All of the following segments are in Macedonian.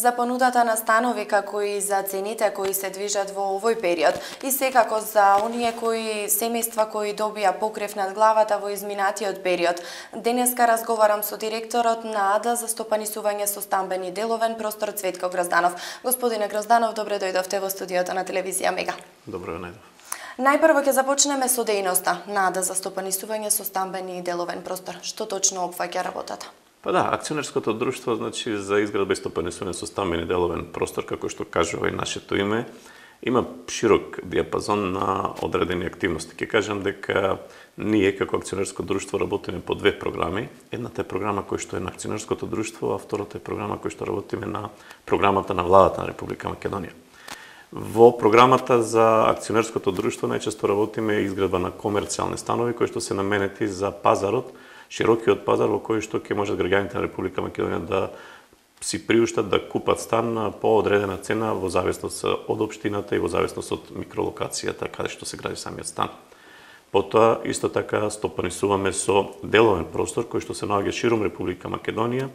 За понудата на станови како и за цените кои се движат во овој период и секако за оние семејства кои добија покрив над главата во изминатиот период. Денеска разговарам со директорот на АД за стопанисување со стамбени деловен простор Цветко Грозданов. Господине Грозданов, добре дојдовте во студиото на телевизија Мега. Добро најдов. Најпрво ќе започнеме со дејноста на АД за стопанисување со стамбени деловен простор. Што точно опфаќа работата? Па да, акционерското друштво, значи за изградба и стопанисување со стамбени деловен простор, како што кажува и нашето име, има широк диапазон на одредени активности. Ќе кажам дека ние како акционерско друштво работиме по две програми. Едната е програма која што е на акционерското друштво, а втората е програма која што работиме на програмата на владата на Република Македонија. Во програмата за акционерското друштво најчесто работиме изградба на комерцијални станови кои што се наменети за пазарот, широкиот пазар во кој што ќе можат граѓаните на Република Македонија да си приуштат да купат стан по одредена цена во зависност од општината и во зависност од микролокацијата каде што се гради самиот стан. Потоа, исто така, стопанисуваме со деловен простор кој што се наоѓа широм Република Македонија,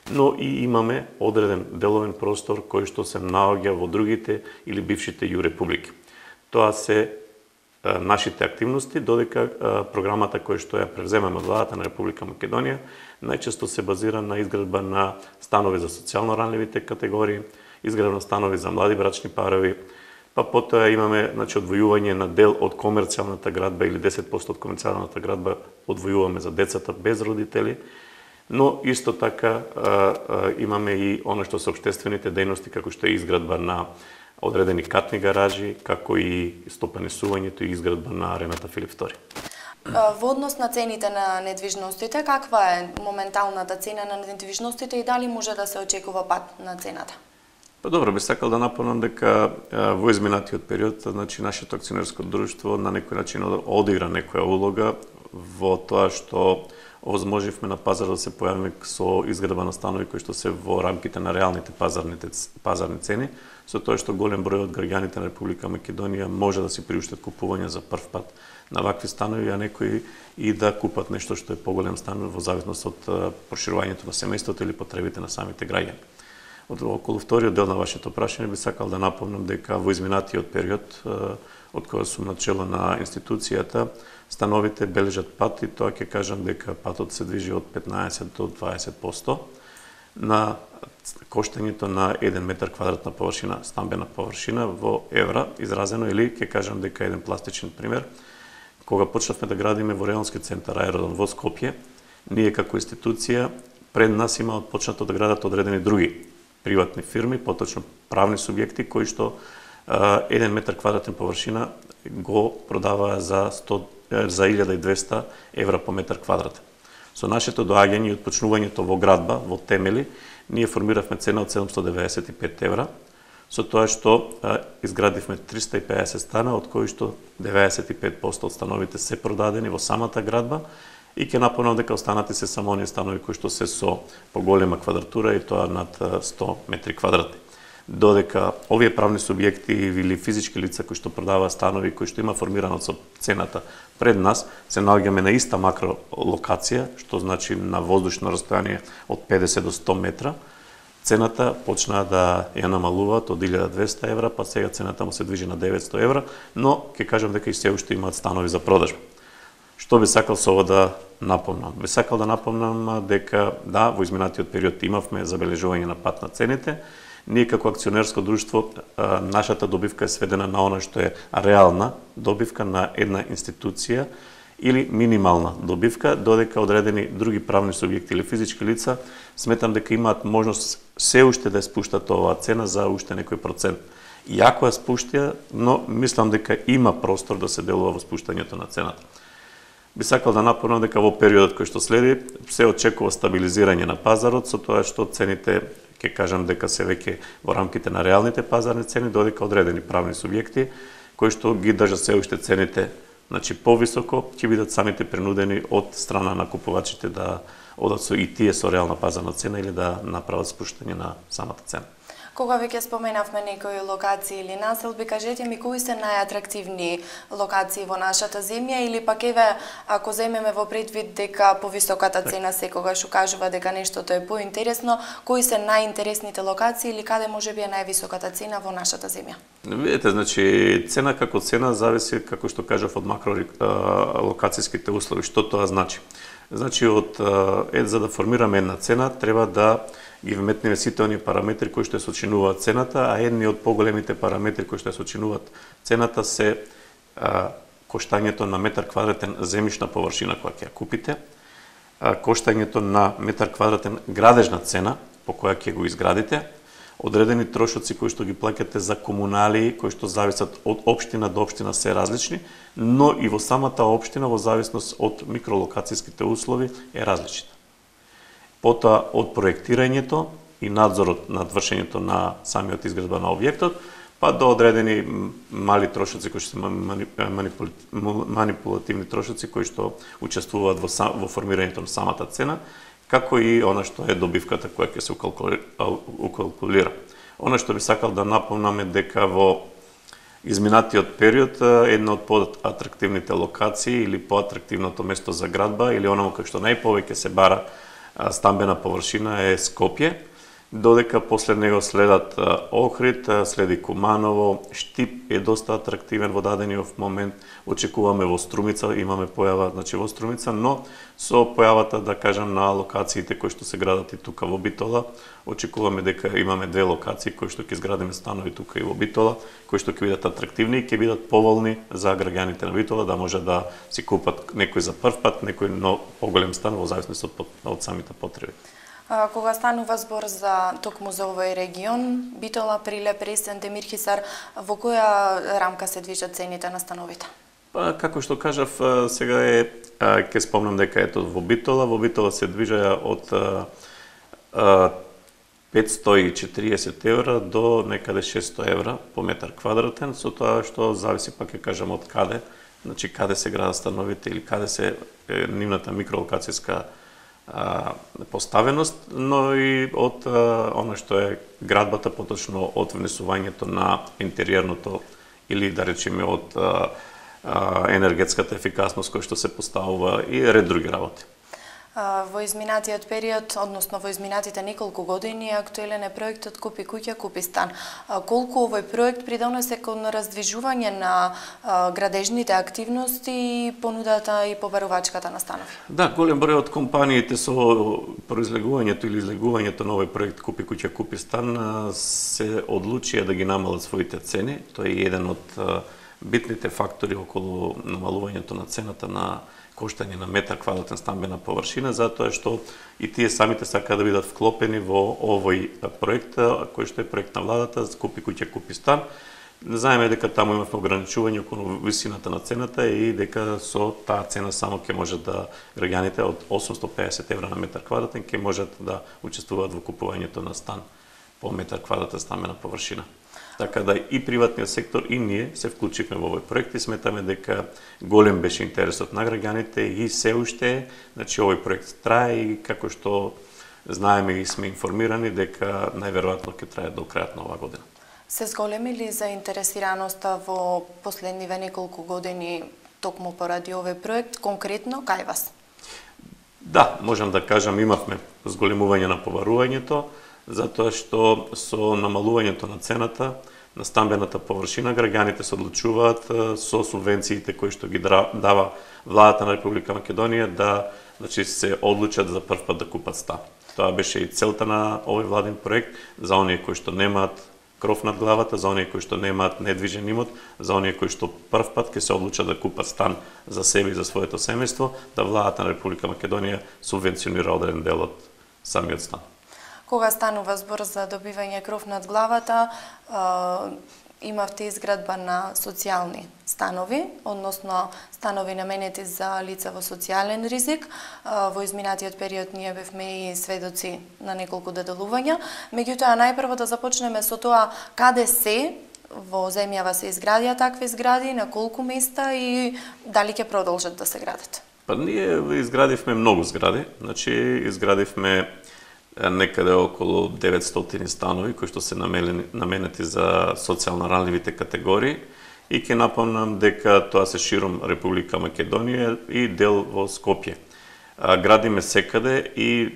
но и имаме одреден деловен простор кој што се наоѓа во другите или бившите ју републики. Тоа се нашите активности, додека програмата која што ја превземаме од владата на Република Македонија најчесто се базира на изградба на станови за социјално ранливите категории, изградба на станови за млади брачни парови, па потоа имаме одвојување на дел од комерцијалната градба или 10% од комерцијалната градба одвојуваме за децата без родители, но исто така имаме и оно што се општествените дејности како што е изградба на одредени катни гаражи, како и стопанисувањето и изградба на арената Филип II. Во однос на цените на недвижностите, каква е моменталната цена на недвижностите и дали може да се очекува пат на цената? Па добро, би сакал да напомнам дека во изминатиот период, значи нашето акционерско друштво на некој начин одигра некоја улога во тоа што овозможивме на пазар да се појавиме со изградба на станови кои што се во рамките на реалните пазарни цени, со тоа што голем број од граѓаните на Република Македонија може да си приуштат купување за прв пат на вакви станови, а некои и да купат нешто што е поголем стан во зависност од проширувањето на семејството или потребите на самите граѓани. Околу вториот дел на вашето прашање би сакал да напомнам дека во изминатиот период, од кога сум начело на институцијата, становите бележат пат и тоа ќе кажам дека патот се движи од 15 до 20% на коштањето на 1 метар квадратна површина, стамбена површина во евра изразено, или ќе кажам дека еден пластичен пример. Кога почнавме да градиме во Реонски центар аеродром во Скопје, ние како институција пред нас има почнато да градат одредени други приватни фирми, поточно правни субјекти кои што 1 метар квадратна површина го продаваа за 1200 евра по метар квадратен. Со нашето доаѓање и отпочнувањето во градба, во темели, ние формиравме цена од 795 евра, со тоа што изградивме 350 стана, од кои што 95% од становите се продадени во самата градба, и ќе напомнам дека останати се само оние станови кои што се со поголема квадратура и тоа над 100 метри квадратни. Додека овие правни субјекти или физички лица кои што продаваат станови кои што има формирано со цената пред нас, се наоѓаме на иста макролокација, што значи на воздушно растојание од 50 до 100 метра, цената почнаа да ја намалуваат од 1200 евра, па сега цената му се движи на 900 евра, но ќе кажам дека и се уште имаат станови за продажба. Што би сакал со ова да напомнам? Би сакал да напомнам дека да, во изминатиот период имавме забележување на пат на цените. Ние како акционерско друштво, нашата добивка е сведена на она што е реална добивка на една институција или минимална добивка, додека одредени други правни субјекти или физички лица сметам дека имаат можност се уште да ја спуштат оваа цена за уште некој процент. Иако ја спуштија, но мислам дека има простор да се делува во спуштањето на цената. Би сакал да напомнам дека во периодот кој што следи се очекува стабилизирање на пазарот, со тоа што цените, ќе кажам дека се веќе во рамките на реалните пазарни цени, додека одредени правни субјекти кои што ги држат се уште цените, значи повисоко, ќе бидат самите принудени од страна на купувачите да одат со и тие со реална пазарна цена или да направат спуштање на самата цена. Кога веќе споменавме некои локации или населби, кажете ми кои се најатрактивни локации во нашата земја или пак еве ако земеме во предвид дека повисоката цена секогаш укажува дека нештото е поинтересно, кои се најинтересните локации или каде можеби е највисоката цена во нашата земја? Видете, значи цена како цена зависи, како што кажав, од макролокацијските услови. Што тоа значи? Значи за да формираме една цена треба да ги вметнеме сите оние параметри кои што сочинуваат цената, а едни од поголемите параметри кои што сочинуваат цената се коштањето на метар квадратен земјишна површина која ќе ја купите, коштањето на метар квадратен градежна цена по која ќе го изградите, одредени трошоци кои што ги плаќате за комуналии кои што зависат од општина до општина се различни, но и во самата општина во зависност од микролокацијските услови е различна. Потоа од проектирањето и надзорот над вршењето на самиот изградба на објектот, па до одредени мали трошоци кои што се манипулативни трошоци кои што учествуваат во формирањето на самата цена, како и она што е добивката која ќе се укалкулира. Она што би сакал да напомнам е дека во изминатиот период една од поатрактивните локации или поатрактивното место за градба или онаму кај што најповеќе се бара стамбена површина е Скопје, додека после него следат Охрид, следи Куманово, Штип е доста атрактивен во дадениот момент, очекуваме во Струмица, имаме појава во Струмица, но со појавата, да кажам, на локациите кои што се градат и тука во Битола, очекуваме дека имаме две локации кои што ќе изградиме станови тука и во Битола, кои што ќе бидат атрактивни и ќе бидат поволни за граѓаните на Битола да може да си купат некој за прв пат, некој поголем стан во зависност од самите потреби. Кога станува збор за токму за овој регион, Битола, Прилеп, Ресен, Демирхисар, во која рамка се движат цените на становите? Како што кажав, сега ќе спомнам дека ето во Битола се движеа од 540 евра до некаде 600 евра по метар квадратен, со тоа што зависи, пак ќе кажам, од каде, значи каде се градат становите или каде се нивната микролокацијска поставеност, но и од она што е градбата, поточно од внесувањето на интериерното или да речеме од енергетската ефикасност која што се поставува и ред други работи. Во изминатиот период, односно во изминатите неколку години, актуелен е проектот Купи куќа, купи стан. Колку овој проект придонесе кон раздвижување на градежните активности и понудата и побарувачката на станови? Да, голем број од компаниите со произлегувањето или излегувањето на овој проект Купи куќа, купи стан се одлучија да ги намалат своите цени. Тој е еден од битните фактори околу намалувањето на цената на коштање на метар квадратен стамбена површина, затоа што и тие самите сакаат да бидат вклопени во овој проект, кој што е проект на владата, Купи куќа, купи стан. Знаеме дека таму имавме ограничување околу висината на цената и дека со таа цена само ќе можат да граѓаните од 850 евра на метар квадратен ќе можат да учествуваат во купувањето на стан по метар квадратен стамбена површина. Така да и приватниот сектор и ние се вклучивме во овој проект и сметаме дека голем беше интересот на граѓаните и се уште, значи овој проект трае и како што знаеме и сме информирани дека најверојатно ќе трае до крајот на оваа година. Се зголеми ли заинтересираноста во последниве неколку години токму поради овој проект, конкретно кај вас? Да, можам да кажам, имавме зголемување на побарувањето, затоа што со намалувањето на цената на стамбената површина граѓаните се одлучуваат со субвенциите кои што ги дава владата на Република Македонија да се одлучат за прв пат да купат стан. Тоа беше и целта на овој владин проект за оние кои што немаат кров над главата, за оние кои што немаат недвижен имот, за оние кои што прв пат ќе се одлучат да купат стан за себе и за своето семејство, да владата на Република Македонија субвенционира одреден дел од самиот стан. Кога станува збор за добивање кров над главата, имавте изградба на социјални станови, односно станови наменети за лица во социјален ризик. Во изминатиот период ние бевме и сведоци на неколку доделувања. Меѓутоа, најпрво да започнеме со тоа каде се во земјава се изградија такви згради, на колку места и дали ќе продолжат да се градат? Па ние изградивме многу згради, значи изградивме некаде околу 900 станови кои што се наменети за социјално ранливите категории и ќе напомнам дека тоа се широм Република Македонија и дел во Скопје. Градиме секаде и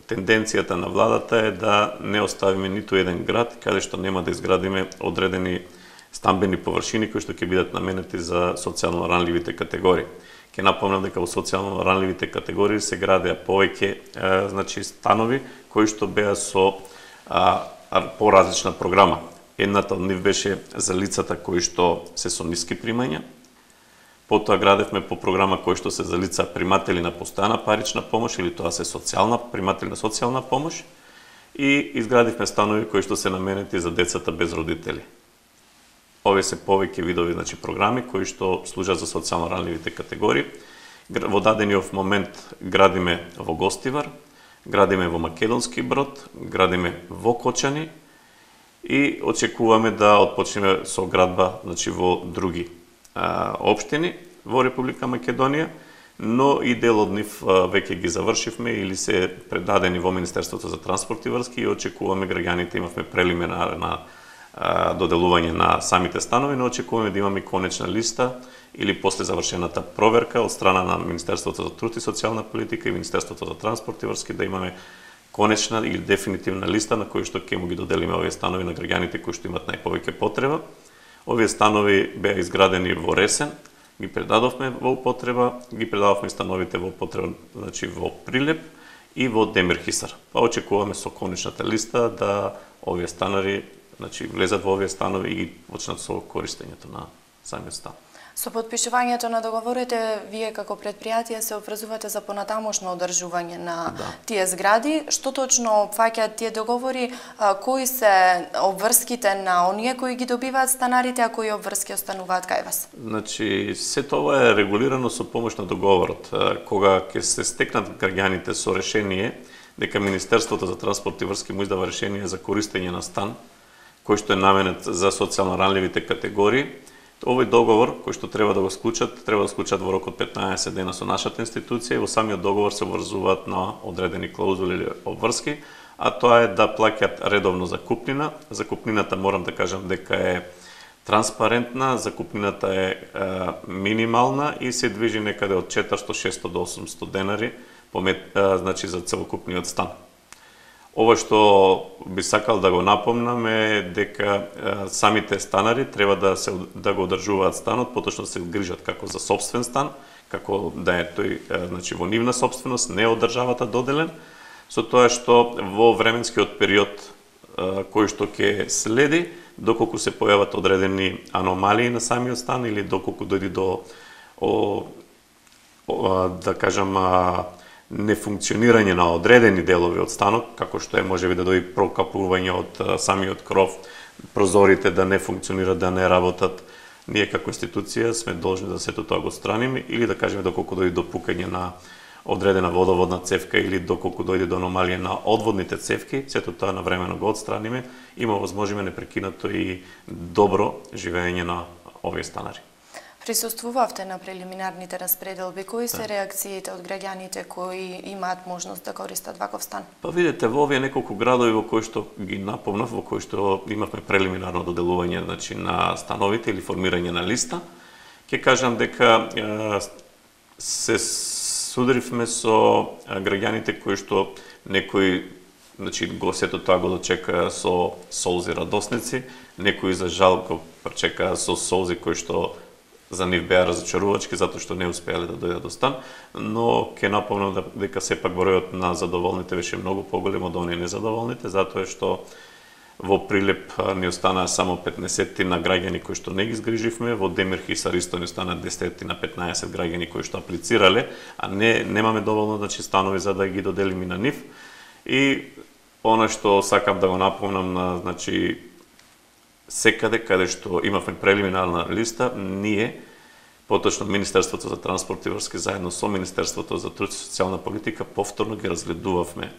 тенденцијата на владата е да не оставиме ниту еден град каде што нема да изградиме одредени стамбени површини кои што ќе бидат наменети за социјално ранливите категории. Ќе напомнам дека во социјално ранливите категории се градеа повеќе станови кои што беа со поразлична програма. Едната од нив беше за лицата кои што се со ниски примања. Потоа градевме по програма кои што се за лица приматели на постојана парична помош или тоа се приматели на социјална помош и изградивме станови кои што се наменети за децата без родители. Овие се повеќе видови програми кои што служат за социјално ранливите категории. Во дадениот момент градиме во Гостивар, градиме во Македонски Брод, градиме во Кочани и очекуваме да отпочнеме со градба во други општини во Република Македонија, но и дел од нив веќе ги завршивме или се предадени во Министерството за транспорт и врски и очекуваме граѓаните, имавме прелиминарна доделување на самите станови, но очекуваме да имаме конечна листа или после завршената проверка од страна на Министерството за труд и социјална политика и Министерството за транспорт и врски да имаме конечна или дефинитивна листа на кои што ќе му ги доделиме овие станови на граѓаните кои што имат најповеќе потреба. Овие станови беа изградени во Ресен, ги предадовме во употреба, ги предадовме становите во употреба, во Прилеп и во Демирхисар. Па очекуваме со конечната листа да овие станари влезат во овие станови и ги почнат со користењето на самиот стан. Со подпишувањето на договорите, вие како предпријатие се обврзувате за понатамошно одржување на тие згради. Што точно опфаќаат тие договори? Кои се обврските на оние кои ги добиваат станарите, а кои обврски остануваат кај вас? Се тоа е регулирано со помош на договорот. Кога ќе се стекнат граѓаните со решение дека Министерството за транспорт и врски му издава решение за користење на стан, кој што е наменет за социјално ранливите категории, овој договор кој што треба да го склучат во рок од 15 дена со нашата институција и во самиот договор се обврзуваат на одредени клаузули или обврски, а тоа е да плаќаат редовно закупнина. Закупнината морам да кажам дека е транспарентна, закупнината е минимална и се движи некаде од 400, 600 до 800 денари за целокупниот стан. Ова што би сакал да го напомнам е дека самите станари треба да го одржуваат станот, поточно се грижат како за сопствен стан, како да е тој во нивна сопственост, не од државата доделен, со тоа што во временскиот период кој што ќе следи, доколку се појават одредени аномалии на самиот стан или доколку дојде до да кажам нефункционирање на одредени делови од станот, како што е можеби да дојде прокапување од самиот кров, прозорите да не функционират, да не работат. Ние како институција сме должни да сето тоа го страниме или да кажеме доколку дојде до пукање на одредена водоводна цевка или доколку дојде до аномалија на одводните цевки, сето тоа навремено го отстраниме, има возможиме непрекинато и добро живење на овие станари. Присуствувавте на прелиминарните распределби. Кои се реакциите од граѓаните кои имаат можност да користат ваков стан? Па видите, во овие неколку градови во кои што ги напомнав, во кои што имавме прелиминарно доделување на становите или формирање на листа, ќе кажам дека се судривме со граѓаните кои што некои сето тоа го дочекаа со солзи радосници, некои за жал го пречекаа со солзи кои што за нив беа разочарувачки затоа што не успеале да дојдат до стан, но ќе напомнам дека сепак бројот на задоволните беше многу поголем од оние незадоволните, затоа што во Прилеп ни останаа само 15 на граѓани кои што не ги згриживме, во Демирхисар исто ни останаа 10 на 15 граѓани кои што аплицирале, а немаме доволно станови за да ги доделиме на нив. И она што сакам да го напомнам секаде каде што имавме прелиминарна листа, ние, поточно Министерството за транспорт и врски заедно со Министерството за труд и социјална политика, повторно ги разгледувавме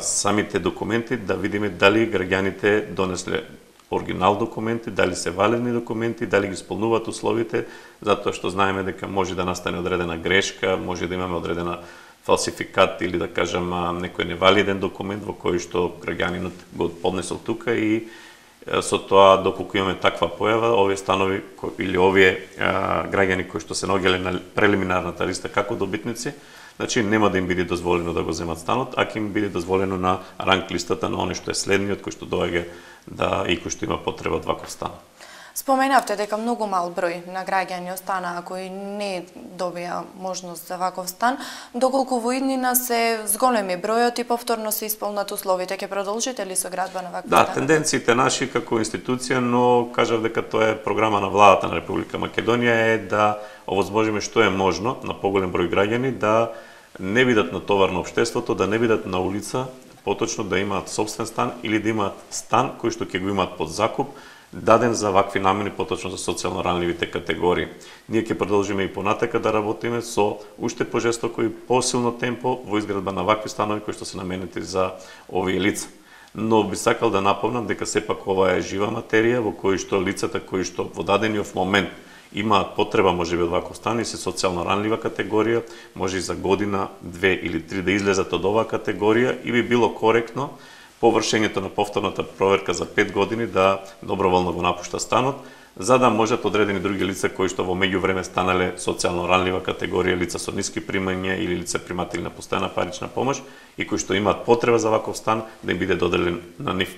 самите документи, да видиме дали граѓаните донесле оригинал документи, дали се валидни документи, дали ги исполнуваат условите, затоа што знаеме дека може да настане одредена грешка, може да имаме одредена фалсификат или да кажам некој невалиден документ во кој што граѓанинот го поднесол тука и со тоа доколку имаме таква појава, овие станови или овие граѓани кои што се наоѓале на прелиминарната листа како добитници, значи нема да им биде дозволено да го земат станот, а ќе им биде дозволено на ранг листата на оној што е следниот кој што доаѓа и кој што има потреба од ваков стан. Споменавте дека многу мал број на граѓани останаа кои не добија можност за ваков стан, доколку во иднина се зголеми бројот и повторно се исполнат условите, ќе продолжите ли со градба на вакви станови? Да, тенденциите наши како институција, но кажав дека тоа е програма на владата на Република Македонија е да овозможиме што е можно на поголем број граѓани да не бидат натовар на општеството, да не бидат на улица, поточно да имаат сопствен стан или да имаат стан кој што ќе го имаат под закуп, даден за вакви намени, поточно за социјално ранливите категории. Ние ќе продолжиме и понатака да работиме со уште пожестоко и посилно темпо во изградба на вакви станови кои што се наменети за овие лица. Но би сакал да напомнам дека сепак ова е жива материја во кој што лицата кои што во дадениот момент имаат потреба можеби од ваков стан и се социјално ранлива категорија, може и за година, 2 или 3 да излезат од оваа категорија и би било коректно по вршењето на повторната проверка за 5 години да доброволно го напушта станот, за да можат одредени други лица кои што во меѓувреме станале социјално ранлива категорија, лица со ниски примања или лица приматели на постојана парична помош и кои што имаат потреба за ваков стан да им биде доделен на нив.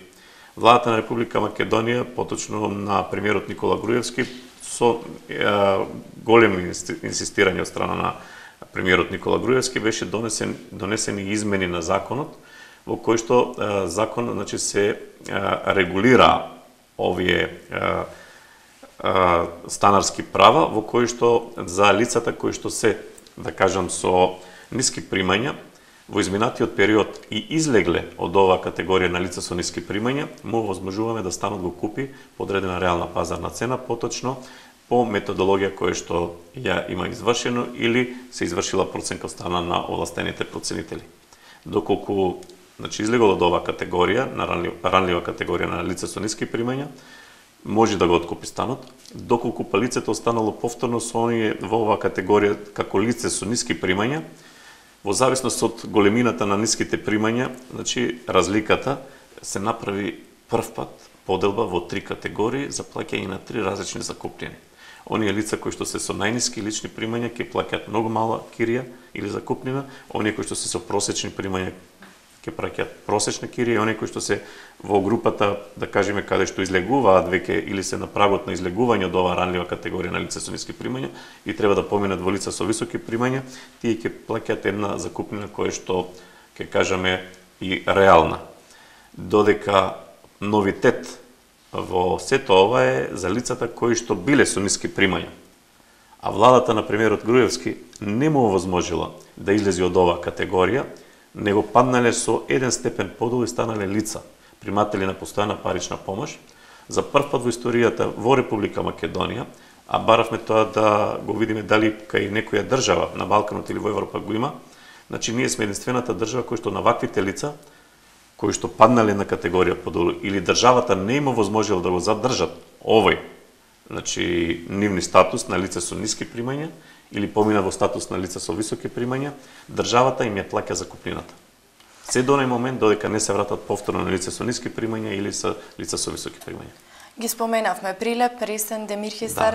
Владата на Република Македонија, поточно на премиерот Никола Груевски, со големо инсистирање од страна на премиерот Никола Груевски беше донесени измени на законот во кој што закон значи се регулира овие станарски права во кои што за лицата кои што се, да кажам, со ниски примања во изминатиот период и излегле од оваа категорија на лица со ниски примања, му возможуваме да станот го купи по одредена реална пазарна цена, поточно по методологија која што ја има извршено или се извршила проценка од страна на овластените проценители. Доколку значи излегол од оваа категорија, на ранлива категорија на лица со ниски примања, може да го откупи станот, доколку па лицето останало повторно со оние во оваа категорија како лице со ниски примања, во зависност од големината на ниските примања, значи разликата се направи прв пат поделба во 3 категории за плаќање на 3 различни закупнини. Оние лица кои што се со најниски лични примања ќе плаќаат многу мала кирија или закупнина, оние кои што се со просечни примања ќе праќаат просечна кирија и оние кои што се во групата, да кажеме, каде што излегуваат веќе или се на прагот на излегување од оваа ранлива категорија на лица со ниски примања и треба да поминат во лица со високи примања, тие ќе плаќаат една закупнина која што ќе кажеме и реална. Додека новитет во сето ова е за лицата кои што биле со ниски примања. А владата на премиерот Груевски не му овозможила да излезе од оваа категорија, него паднале со еден степен подолу и станале лица, приматели на постојана парична помош, за прв пат во историјата во Република Македонија, а баравме тоа да го видиме дали кај некоја држава на Балканот или во Европа го има, значи ние сме единствената држава кој што на ваквите лица, кои што паднале на категорија подолу, или државата не има возможила да го задржат овој, значи нивни статус на лице со ниски примања, или помина во статус на лица со високи примања, државата им ја плаќа закупнината. Се до оној момент додека не се вратат повторно на лица со ниски примања или со лица со високи примања. Ги споменавме Прилеп, Ресен, Демирхистар,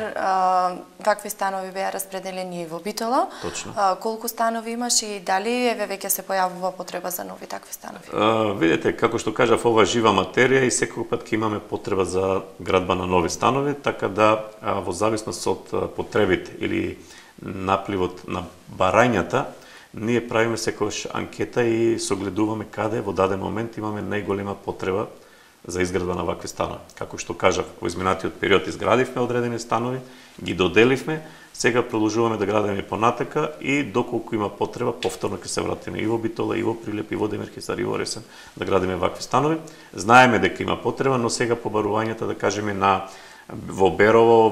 вакви станови беа распределени и во Битола. Точно. Колку станови имаш и дали еве веќе се појавува потреба за нови такви станови? Видете, како што кажав, ова жива материја и секој пат ќе имаме потреба за градба на нови станови, така да во зависност од потребите или напливот на барањата, ние правиме секогаш анкета и согледуваме каде во даден момент имаме најголема потреба за изградба на вакви станови. Како што кажав, во изминатиот период изградивме одредени станови, ги доделивме, сега продолжуваме да градиме понатака и доколку има потреба, повторно ќе се вратиме и во Битола, и во Прилеп, и во Демирхистар, и во Ресен да градиме вакви станови. Знаеме дека има потреба, но сега побарувањата, да кажеме, во Берово,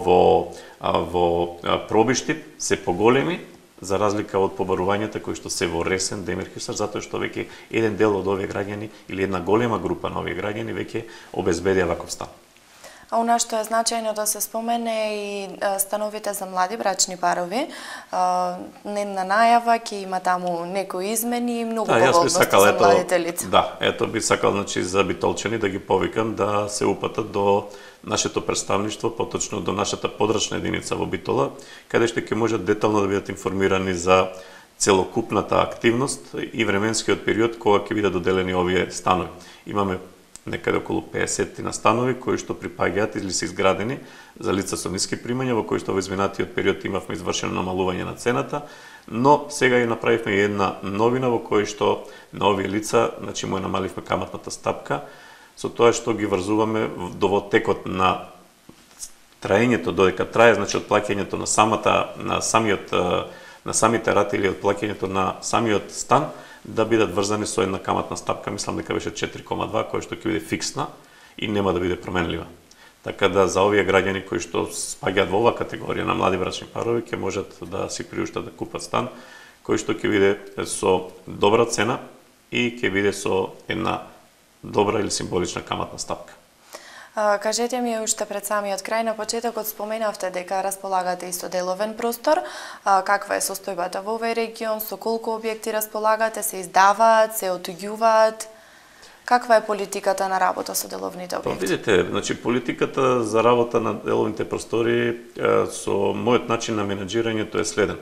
во Пробиштип се поголеми, за разлика од побарувањата кои што се во Ресен, Демирхистар, затоа што веќе еден дел од овие граѓани или една голема група на овие граѓани веќе обезбедија ваков стан. А у нас што е значајно да се спомене и становите за млади брачни парови. Недна најава ќе има таму некои измени и многу погодности за младите лица. Да, ето би сакал значи за битолчани да ги повикам да се упатат до нашето представништво, поточно до нашата подрачна единица во Битола, каде што ќе можат детално да бидат информирани за целокупната активност и временскиот период кога ќе бидат доделени овие станови. Имаме некаде околу 50 на станови кои што припаѓаат или се изградени за лица со ниски примања, во кои што во изминатиот период имавме извршено намалување на цената, но сега и направивме една новина во кој што на овие лица, значи му намаливме каматната стапка, со тоа што ги врзуваме во текот на траењето, додека трае, значи од плаќањето на самите рати или од плаќањето на самиот стан, да бидат врзани со една каматна стапка, мислам дека беше 4,2, која што ќе биде фиксна и нема да биде променлива. Така да за овие граѓани кои што спаѓаат во оваа категорија на млади брачни парови ќе можат да си приуштат да купат стан кој што ќе биде со добра цена и ќе биде со една добра или символична каматна стапка. Кажете ми уште пред самиот крај, на почетокот споменавте дека располагате и со деловен простор. Каква е состојбата во овој регион, со колку објекти располагате, се издаваат, се отуѓуваат? Каква е политиката на работа со деловните објекти? Видите, значи политиката за работа на деловните простори со мојот начин на менеджирањето е следен.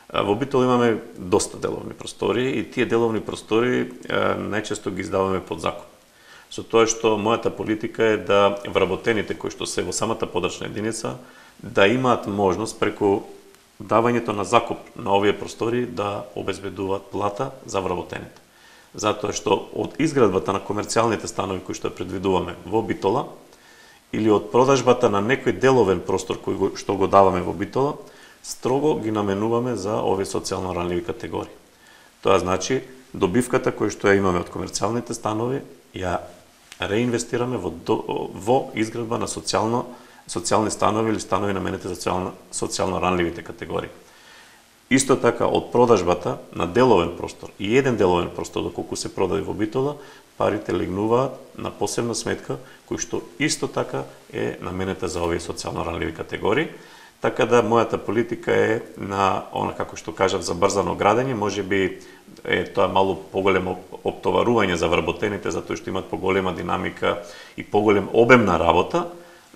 Во Битол имаме доста деловни простори и тие деловни простори најчесто ги издаваме под закуп. Со тоа што мојата политика е да вработените кои што се во самата подрачна единица да имаат можност преку давањето на закуп на овие простори да обезбедуваат плата за вработените. Затоа што од изградбата на комерцијалните станови кои што предвидуваме во Битола или од продажбата на некој деловен простор кој што го даваме во Битола, строго ги наменуваме за овие социјално ранливи категории. Тоа значи добивката која што ја имаме од комерцијалните станови ја реинвестираме во изградба на социјални станови или станови наменети за социјално ранливите категории. Исто така од продажбата на деловен простор и еден деловен простор доколку се продаде во Битола, парите легнуваат на посебна сметка кој што исто така е наменета за овие социјално ранливи категории. Така да мојата политика е на она како што кажав за брзано градење, можеби е тоа малку поголемо оптоварување за вработените затоа што имаат поголема динамика и поголем обем на работа,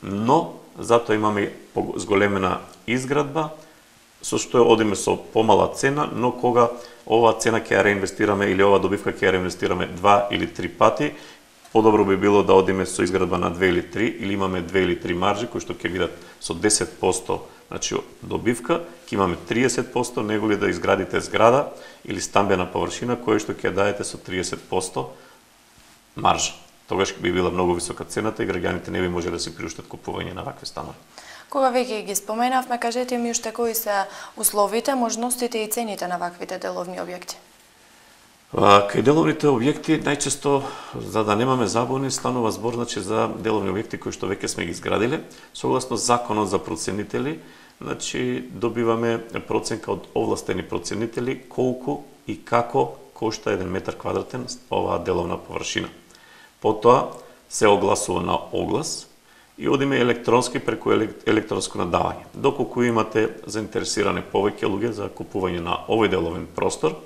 но затоа имаме зголемена изградба со што одиме со помала цена, но кога оваа цена ќе ја реинвестираме или оваа добивка ќе ја реинвестираме 2 или 3 пати, подобро би било да одиме со изградба на 2 или 3 или имаме 2 или 3 маржи кои што ќе бидат со 10%, значи добивка, ќе имаме 30%, неголи да изградите зграда или стамбена површина која што ќе даете со 30% маржа. Тогаш би била многу висока цената и граѓаните не би можеле да си приуштат купување на вакви станови. Кога веќе ги споменавме, кажете ми уште кои се условите, можностите и цените на ваквите деловни објекти? Кај деловните објекти најчесто, за да немаме забуни, станува збор значи за деловни објекти кои што веќе сме ги изградиле, согласно законот за проценители, значи добиваме проценка од овластени проценители колку и како кошта 1 метар квадратен оваа деловна површина. Потоа се огласува на оглас и одиме електронски преку електронско надавање. Доколку имате заинтересирани повеќе луѓе за купување на овој деловен простор,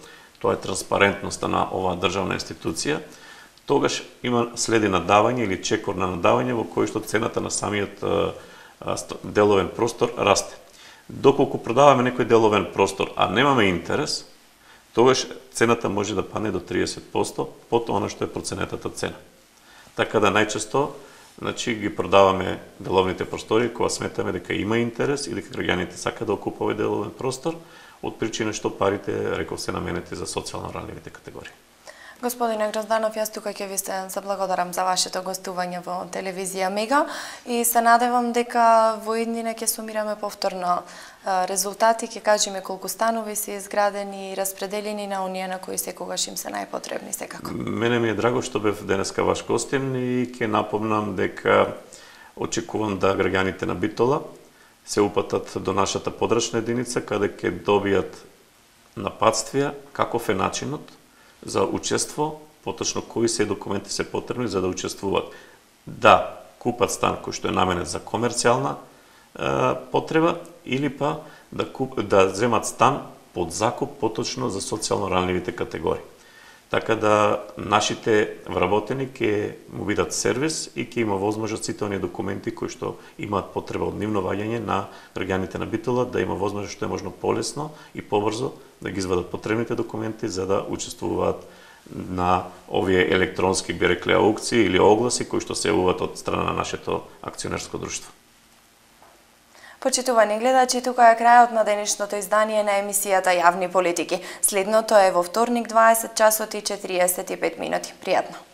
тоа е транспарентноста на оваа државна институција, тогаш следи надавање или чекор на надавање во кој што цената на самиот деловен простор расте. Доколку продаваме некој деловен простор, а немаме интерес, тогаш цената може да падне до 30% под она што е проценетата цена. Така да најчесто значи ги продаваме деловните простори кога сметаме дека има интерес и дека граѓаните сакаат да окупуваат деловен простор, од причина што парите, реков, се наменети за социјално ранливите категории. Господине Грозданов, јас тука ќе ви се заблагодарам за вашето гостување во телевизија Мега и се надевам дека во иднина ќе сумираме повторно резултати, ќе кажеме колку станови се изградени и распределени на оние на кои секогаш им се најпотребни секако. Мене ми е драго што бев денеска ваш гостин и ќе напомнам дека очекувам да граѓаните на Битола се упатат до нашата подрачна единица каде ќе добијат напатствија каков е начинот за учество, поточно кои се документи се потребни за да учествуваат. Да купат стан кој што е наменет за комерцијална потреба или па да земат стан под закуп поточно за социјално ранливите категории. Така да нашите вработени ќе му бидат сервис и ќе има возможност сите оние документи кои што имаат потреба од нивно ваѓање на граѓаните на Битола да има возможност што е можно полесно и побрзо да ги извадат потребните документи за да учествуваат на овие електронски, би рекле, аукции или огласи кои што се јавуваат од страна на нашето акционерско друштво. Почитувани гледачи, тука е крајот на денешното издание на емисијата Јавни политики. Следното е во вторник 20 часот и 45 минути. Пријатно!